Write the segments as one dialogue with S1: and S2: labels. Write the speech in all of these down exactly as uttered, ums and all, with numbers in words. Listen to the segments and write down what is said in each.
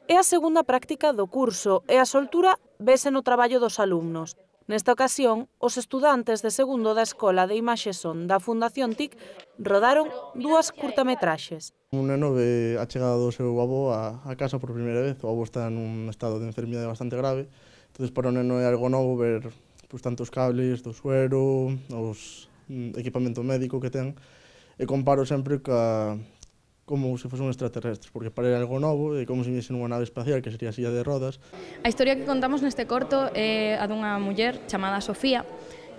S1: É a segunda práctica do curso e a soltura vese no traballo dos alumnos. Nesta ocasión, os estudantes de segundo da Escola de Imaxe Son da Fundación T I C rodaron dúas curtametraxes.
S2: Un neno ve a chegada do seu avó a, a casa por primeira vez. O avó está nun estado de enfermidade bastante grave. Entón, para o neno é algo novo ver pues, tantos cables do suero, os mm, equipamento médico que ten. E comparo sempre ca, como se fose un extraterrestre, porque para ele é algo novo, é como se viese nunha nave espacial, que sería a silla de rodas.
S3: A historia que contamos neste corto é a dunha muller chamada Sofía,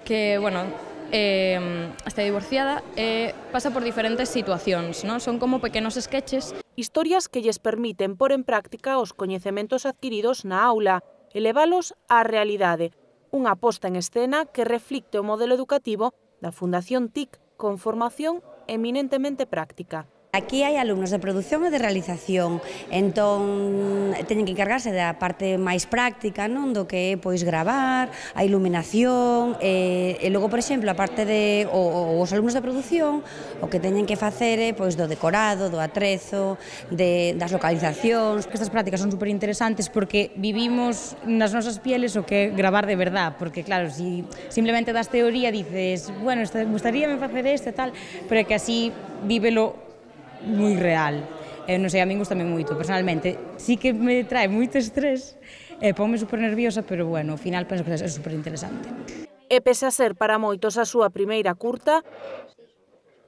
S3: que, bueno, eh, está divorciada e pasa por diferentes situacións, non? Son como pequenos sketches.
S1: Historias que lles permiten pôr en práctica os coñecementos adquiridos na aula e levalos á realidade. Unha posta en escena que reflicte o modelo educativo da Fundación T I C con formación eminentemente práctica.
S4: Aquí hai alumnos de produción e de realización, entón teñen que encargarse da parte máis práctica, non, do que é pois gravar, a iluminación, e, e logo, por exemplo, a parte de o, os alumnos de produción, o que teñen que facer é pois do decorado, do atrezo, de, das localizacións.
S5: Estas prácticas son super interesantes porque vivimos nas nosas pieles o que é gravar de verdad, porque claro, si simplemente das teoría dices, bueno, gustaríame facer isto e tal, pero é que así vívelo moi real. Eh, non sei, a min gustame moito, personalmente. Sí que me trae moito estrés, e eh, ponme super nerviosa, pero bueno, ao final penso que é super interesante.
S1: E pese a ser para moitos a súa primeira curta,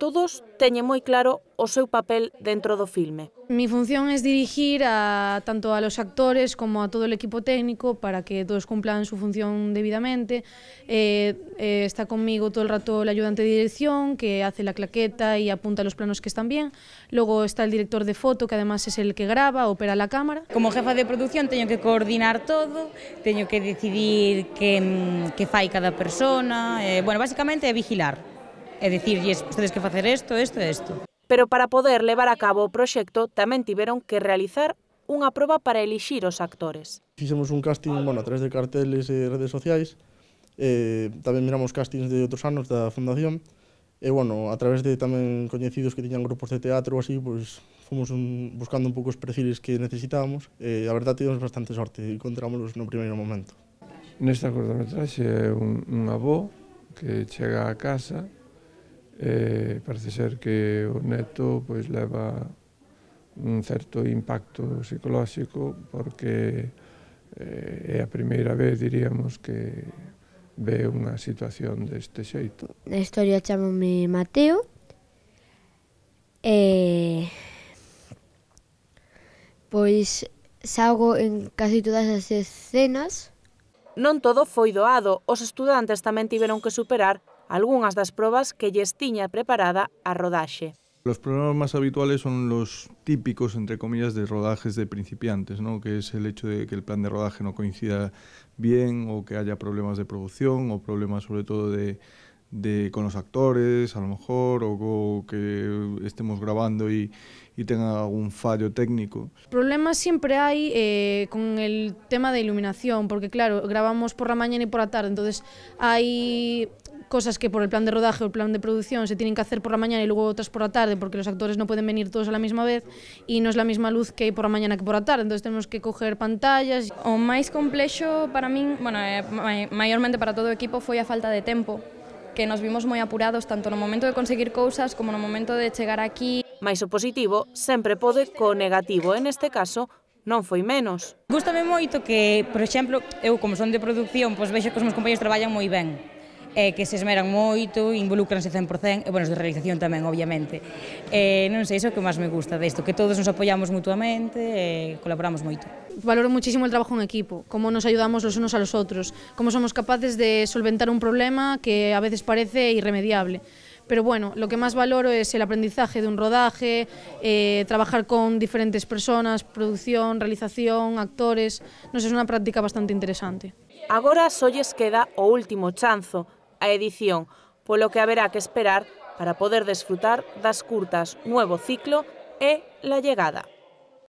S1: todos teñen moi claro o seu papel dentro do filme.
S6: Mi función es dirigir a, tanto a los actores como a todo el equipo técnico para que todos cumplan su función debidamente. Eh, eh, está conmigo todo el rato el ayudante de dirección, que hace la claqueta y apunta los planos que están bien. Luego está el director de foto, que además es el que graba, opera la cámara.
S5: Como jefa de producción teño que coordinar todo, teño que decidir que, que fai cada persona. Eh, bueno, básicamente é vigilar. É dicirlles, ustedes que facer isto, isto e isto.
S1: Pero para poder levar a cabo o proxecto tamén tiveron que realizar unha proba para elixir os actores.
S2: Fixemos un casting, bueno, a través de carteles e redes sociais, e tamén miramos castings de outros anos da Fundación, e, bueno, a través de tamén coñecidos que tiñan grupos de teatro ou así, pois, fomos un, buscando un pouco os perfiles que necesitábamos, e a verdade tivemos bastante sorte, e encontrámonos no primeiro momento.
S7: Nesta cortometraxe é un, un avó que chega a casa. Eh, parece ser que o neto pois, leva un certo impacto psicolóxico porque eh, é a primeira vez, diríamos, que ve unha situación deste xeito.
S8: Na historia chamome Mateo e pois salgo en casi todas as escenas.
S1: Non todo foi doado, os estudantes tamén tiveron que superar algunhas das probas que lles tiña preparada a rodaxe.
S9: Los problemas más habituales son los típicos, entre comillas, de rodajes de principiantes, ¿no? Que es el hecho de que el plan de rodaje no coincida bien o que haya problemas de producción o problemas sobre todo de, de con los actores, a lo mejor, o, o que estemos grabando y, y tenga algún fallo técnico.
S6: Problemas siempre hay eh, con el tema de iluminación, porque claro, grabamos por la mañana y por la tarde, entonces hay cosas que por el plan de rodaje o el plan de producción se tienen que hacer por la mañana y luego otras por la tarde, porque los actores no pueden venir todos a la misma vez y no es la misma luz que hay por la mañana que por la tarde, entonces tenemos que coger pantallas.
S3: O máis complexo para min, bueno, eh, maiormente para todo o equipo, foi a falta de tempo, que nos vimos moi apurados tanto no momento de conseguir cousas como no momento de chegar aquí.
S1: Mais o positivo sempre pode co negativo, en este caso non foi menos.
S5: Gústame moito que, por exemplo, eu como son de produción, pois vexo que os meus compañeros traballan moi ben, e que se esmeran moito, involúcranse cen por cen, e, bueno, os de realización tamén, obviamente. E, non sei, iso é o que máis me gusta desto, que todos nos apoiamos mutuamente e colaboramos moito.
S6: Valoro muchísimo el trabajo en equipo, cómo nos ayudamos los unos a los otros, cómo somos capaces de solventar un problema que a veces parece irremediable. Pero bueno, lo que más valoro es el aprendizaje de un rodaje, eh, trabajar con diferentes personas, producción, realización, actores. No sé, es una práctica bastante interesante.
S1: Agora só lles queda o último chanzo, a edición, polo que haberá que esperar para poder desfrutar das curtas Nuevo Ciclo e La Llegada.